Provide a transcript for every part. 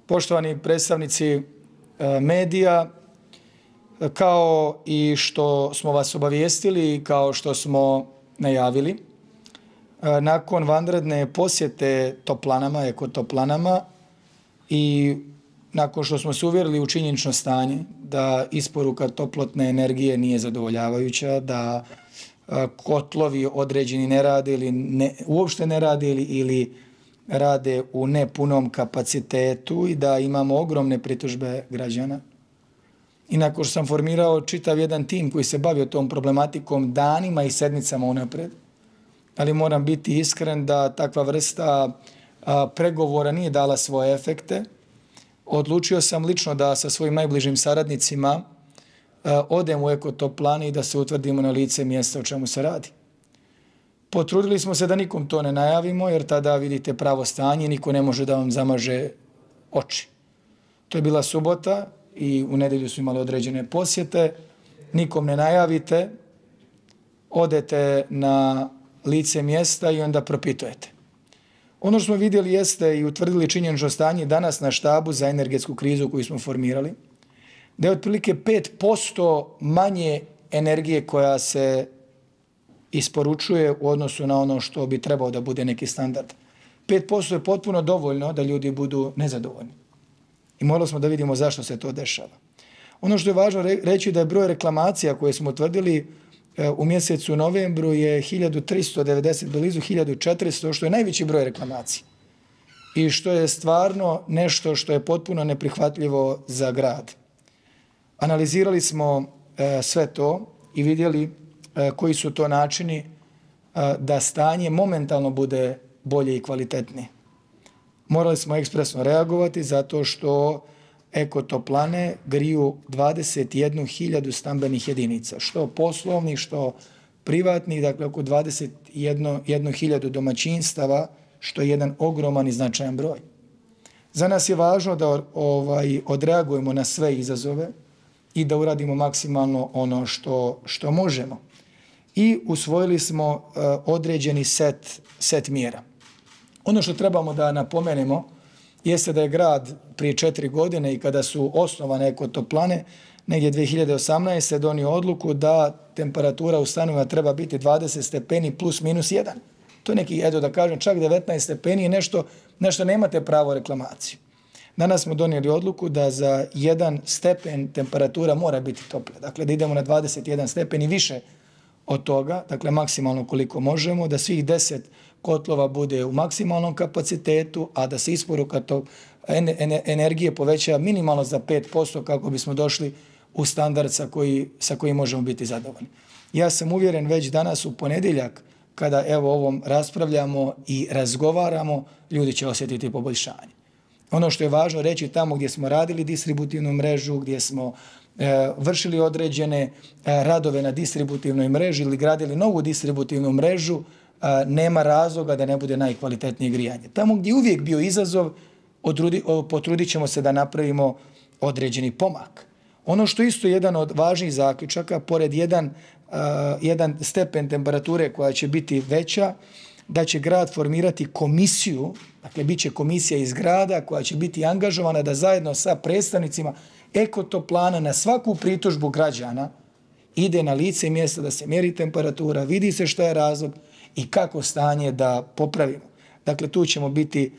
Poštovani predstavnici medija, kao i što smo vas obavijestili i kao što smo najavili, nakon vanredne posjete toplanama, ekotoplanama i nakon što smo se uvjerili u činjenično stanje da isporuka toplotne energije nije zadovoljavajuća, da kotlovi određeni ne rade ili uopšte ne rade ili rade u nepunom kapacitetu i da imamo ogromne pritužbe građana. I nakon što sam formirao čitav jedan tim koji se bavio tom problematikom danima i sedmicama unapred, ali moram biti iskren da takva vrsta pregovora nije dala svoje efekte, odlučio sam lično da sa svojim najbližim saradnicima odem u ekotoplane i da se utvrdimo na lice mjesta o čemu se radi. Potrudili smo se da nikom to ne najavimo, jer tada vidite pravo stanje i niko ne može da vam zamaže oči. To je bila subota i u nedelju su imali određene posjete. Nikom ne najavite, odete na lice mjesta i onda propitujete. Ono što smo vidjeli jeste i utvrdili činjenično stanje danas na štabu za energetsku krizu koju smo formirali, da je otprilike 5% manje energije koja se isporučuje u odnosu na ono što bi trebao da bude neki standard. 5% je potpuno dovoljno da ljudi budu nezadovoljni. I morali smo da vidimo zašto se to dešava. Ono što je važno reći da je broj reklamacija koje smo utvrdili u mjesecu novembru je 1390, blizu 1400, što je najveći broj reklamacija. I što je stvarno nešto što je potpuno neprihvatljivo za grad. Analizirali smo sve to i vidjeli koji su to načini da stanje momentalno bude bolje i kvalitetnije. Morali smo ekspresno reagovati zato što ekotoplane griju 21.000 stambenih jedinica, što poslovnih, što privatnih, dakle oko 21.000 domaćinstava, što je jedan ogroman i značajan broj. Za nas je važno da odreagujemo na sve izazove i da uradimo maksimalno ono što možemo. I usvojili smo određeni set mjera. Ono što trebamo da napomenemo jeste da je grad prije 4 godine i kada su osnovane ekotoplane, negdje 2018. donio odluku da temperatura u stanovima treba biti 20 stepeni plus minus 1. To je neki, eto da kažem, čak 19 stepeni je nešto nemate pravo reklamaciju. Danas smo donijeli odluku da za 1 stepen temperatura mora biti toplja. Dakle, da idemo na 21 stepen i više od toga, dakle maksimalno koliko možemo, da svih 10 kotlova bude u maksimalnom kapacitetu, a da se isporuka energije poveća minimalno za 5% kako bismo došli u standard sa kojim možemo biti zadovoljni. Ja sam uvjeren već danas u ponedjeljak, kada evo ovom raspravljamo i razgovaramo, ljudi će osjetiti poboljšanje. Ono što je važno reći, tamo gdje smo radili distributivnu mrežu, gdje smo vršili određene radove na distributivnoj mreži ili gradili novu distributivnu mrežu, nema razloga da ne bude najkvalitetnije grijanje. Tamo gdje je uvijek bio izazov, potrudit ćemo se da napravimo određeni pomak. Ono što isto je jedan od važnijih zaključaka, pored jedan stepen temperature koja će biti veća, da će grad formirati komisiju, dakle bit će komisija iz grada koja će biti angažovana da zajedno sa predstavnicima ekotoplana na svaku pritužbu građana ide na lice mjesta da se mjeri temperatura, vidi se što je razlog i kako stanje da popravimo. Dakle, tu ćemo biti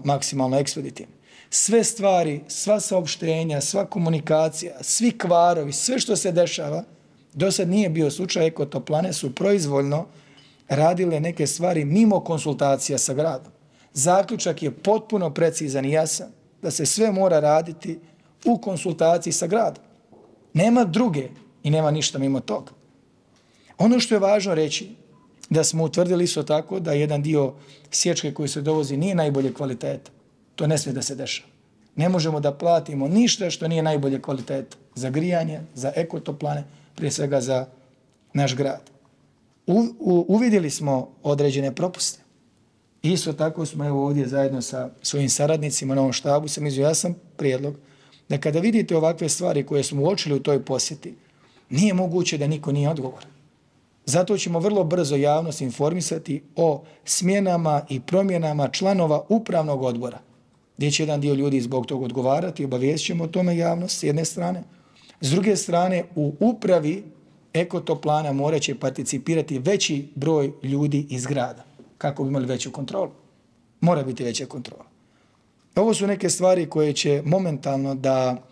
maksimalno ekspeditivni. Sve stvari, sva saopštenja, sva komunikacija, svi kvarovi, sve što se dešava, do sad nije bio slučaj, ekotoplane su proizvoljno radile neke stvari mimo konsultacija sa gradom. Zaključak je potpuno precizan i jasan da se sve mora raditi u konsultaciji sa gradom. Nema druge i nema ništa mimo toga. Ono što je važno reći, da smo utvrdili isto tako da jedan dio sječke koji se dovozi nije najbolje kvaliteta. To ne smije da se dešava. Ne možemo da platimo ništa što nije najbolje kvaliteta za grijanje, za ekotoplane, prije svega za naš grad. Uvidjeli smo određene propuste. Isto tako smo evo ovdje zajedno sa svojim saradnicima na ovom štabu sam izveo jasan prijedlog da kada vidite ovakve stvari koje smo uočili u toj posjeti, nije moguće da niko nije odgovoran. Zato ćemo vrlo brzo javnost informisati o smjenama i promjenama članova upravnog odbora gdje će jedan dio ljudi zbog toga odgovarati, obavijest ćemo o tome javnost s jedne strane. S druge strane, u upravi ekotoplana morat će participirati veći broj ljudi iz grada, kako bi imali veću kontrolu. Mora biti veća kontrola. Ovo su neke stvari koje će momentalno da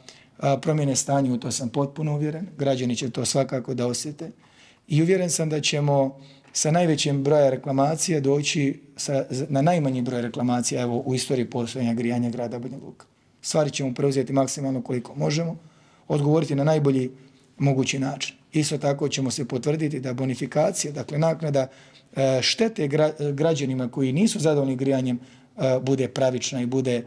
promjene stanje, u to sam potpuno uvjeren. Građani će to svakako da osjete. I uvjeren sam da ćemo sa najvećim broja reklamacija doći na najmanji broj reklamacija u istoriji postojanja grijanja grada Banja Luka. Stvari ćemo preuzeti maksimalno koliko možemo, odgovoriti na najbolji mogući način. Isto tako ćemo se potvrditi da bonifikacija, dakle naknada štete građanima koji nisu zadovoljni grijanjem, bude pravična i bude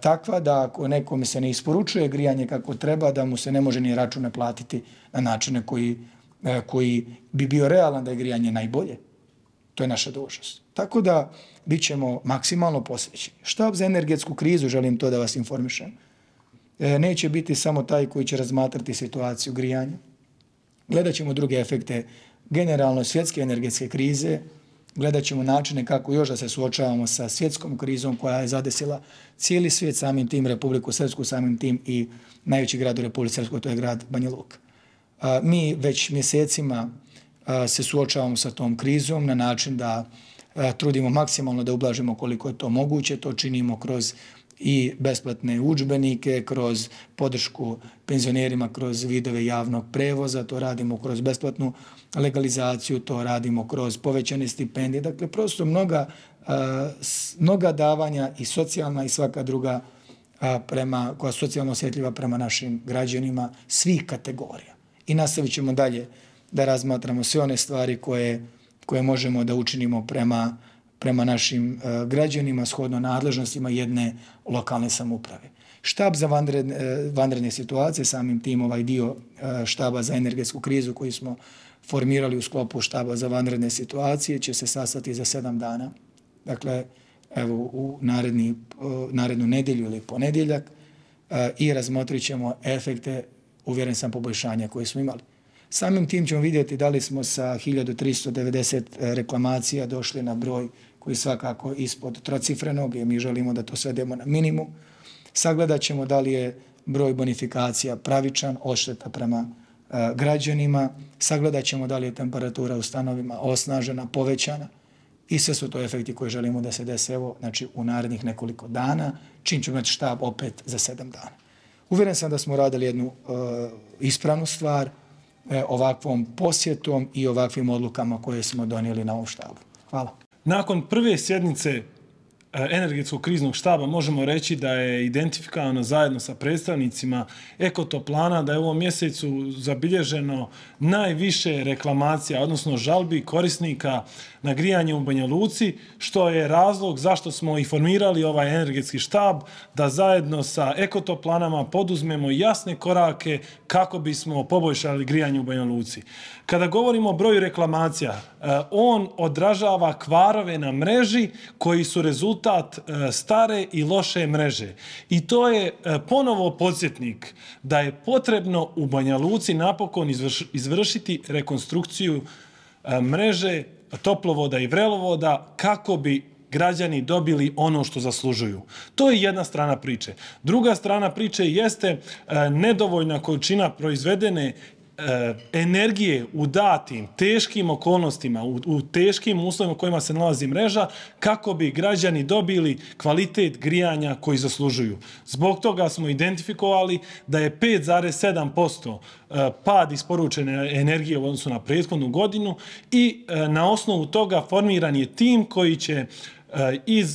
takva da ako nekome se ne isporučuje grijanje kako treba, da mu se ne može ni račune platiti na načine koji bi bio realan da je grijanje najbolje. To je naša dužnost. Tako da bit ćemo maksimalno posvećeni. Štab za energetsku krizu, želim to da vas informišem, neće biti samo taj koji će razmatrati situaciju grijanja. Gledat ćemo druge efekte generalno svjetske energetske krize, gledat ćemo načine kako još da se suočavamo sa svjetskom krizom koja je zadesila cijeli svijet, samim tim Republiku Srpsku, samim tim i najveći grad u Republici Srpskoj, to je grad Banja Luka. Mi već mjesecima se suočavamo sa tom krizom na način da trudimo maksimalno da ublažimo koliko je to moguće. To činimo kroz i besplatne udžbenike, kroz podršku penzionerima, kroz vidove javnog prevoza, to radimo kroz besplatnu legalizaciju, to radimo kroz povećane stipendije. Dakle, prosto mnoga davanja i socijalna i svaka druga koja su socijalno osjetljiva prema našim građanima svih kategorija. I nastavit ćemo dalje da razmatramo sve one stvari koje možemo da učinimo prema našim građanima shodno nadležnostima jedne lokalne samouprave. Štab za vanredne situacije, samim tim ovaj dio štaba za energetsku krizu koji smo formirali u sklopu štaba za vanredne situacije će se sastati za 7 dana. Dakle, evo u narednu nedjelju ili ponedjeljak i razmotrit ćemo efekte, uvjeren sam, poboljšanja koje smo imali. Samim tim ćemo vidjeti da li smo sa 1390 reklamacija došli na broj koji je svakako ispod trocifrenog i mi želimo da to svedemo na minimum. Sagledat ćemo da li je broj bonifikacija pravičan, odšteta prema građanima. Sagledat ćemo da li je temperatura u stanovima osnažena, povećana. I sve su to efekti koje želimo da se dese u narednih nekoliko dana, čim ćemo imati štab opet za 7 dana. Uvjeren sam da smo radili jednu ispravnu stvar ovakvom posjetom i ovakvim odlukama koje smo donijeli na ovom štabu. Hvala. Nakon prve sjednice energetskog kriznog štaba možemo reći da je identifikovano zajedno sa predstavnicima ekotoplana da je u ovom mjesecu zabilježeno najviše reklamacija, odnosno žalbi korisnika na grijanje u Banja Luci, što je razlog zašto smo i formirali ovaj energetski štab, da zajedno sa ekotoplanama poduzmemo jasne korake kako bismo poboljšali grijanje u Banja Luci. Kada govorimo o broju reklamacija, on odražava kvarove na mreži koji su rezultat stare i loše mreže. I to je ponovo podsjetnik da je potrebno u Banja Luci napokon izvršiti rekonstrukciju mreže toplovoda i vrelovoda kako bi građani dobili ono što zaslužuju. To je jedna strana priče. Druga strana priče jeste nedovoljna količina proizvedene energije u datim, teškim okolnostima, u teškim uslovima u kojima se nalazi mreža, kako bi građani dobili kvalitet grijanja koji zaslužuju. Zbog toga smo identifikovali da je 5,7% pad isporučene energije u odnosu na prethodnu godinu i na osnovu toga formiran je tim koji će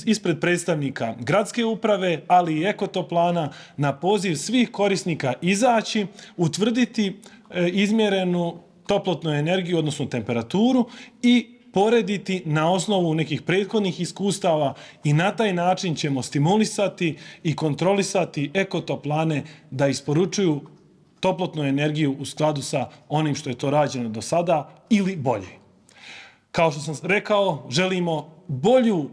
ispred predstavnika gradske uprave, ali i ekotoplana na poziv svih korisnika izaći, utvrditi izmjerenu toplotnu energiju, odnosno temperaturu i porediti na osnovu nekih prethodnih iskustava i na taj način ćemo stimulisati i kontrolisati ekotoplane da isporučuju toplotnu energiju u skladu sa onim što je to rađeno do sada ili bolje. Kao što sam rekao, želimo bolju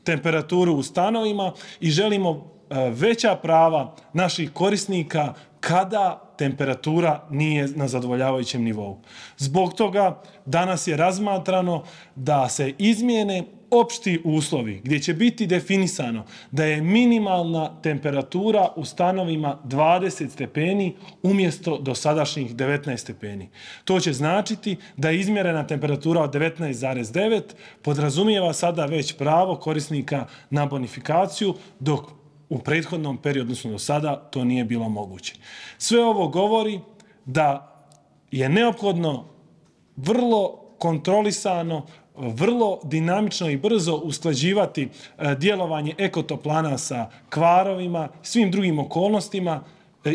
temperaturu u stanovima i želimo veća prava naših korisnika kada temperatura nije na zadovoljavajućem nivou. Zbog toga danas je razmatrano da se izmijene opšti uslovi gdje će biti definisano da je minimalna temperatura u stanovima 20 stepeni umjesto dosadašnjih 19 stepeni. To će značiti da je izmjerena temperatura od 19,9 podrazumijeva sada već pravo korisnika na bonifikaciju, dok u prethodnom periodu, odnosno do sada, to nije bilo moguće. Sve ovo govori da je neophodno vrlo kontrolisano, vrlo dinamično i brzo usklađivati djelovanje ekotoplana sa kvarovima, svim drugim okolnostima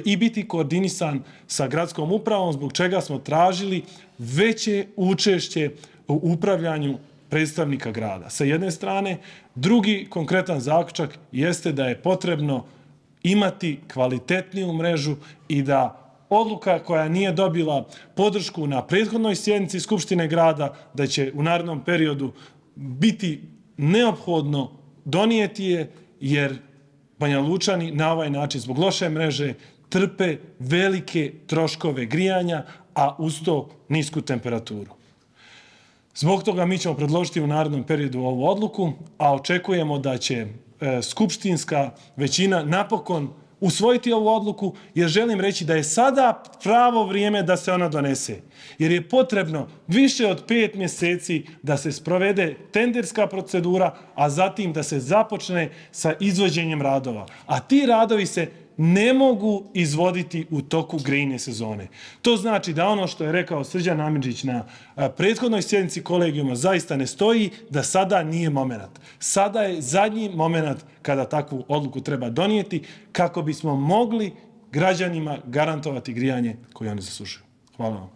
i biti koordinisan sa gradskom upravom, zbog čega smo tražili veće učešće u upravljanju predstavnika grada. Sa jedne strane, drugi konkretan zaključak jeste da je potrebno imati kvalitetniju mrežu i da odluka koja nije dobila podršku na prethodnoj sjednici Skupštine grada, da će u narednom periodu biti neophodno donijeti je, jer Banja Lučani na ovaj način zbog loše mreže trpe velike troškove grijanja, a uz to nisku temperaturu. Zbog toga mi ćemo predložiti u narednom periodu ovu odluku, a očekujemo da će skupštinska većina napokon usvojiti ovu odluku, jer želim reći da je sada pravo vrijeme da se ona donese. Jer je potrebno više od 5 mjeseci da se sprovede tenderska procedura, a zatim da se započne sa izvođenjem radova. A ti radovi se ne mogu izvoditi u toku grejne sezone. To znači da ono što je rekao Srđan Amidžić na prethodnoj sjednici kolegijuma zaista ne stoji, da sada nije moment. Sada je zadnji moment kada takvu odluku treba donijeti kako bismo mogli građanima garantovati grijanje koje oni zaslužuju. Hvala vam.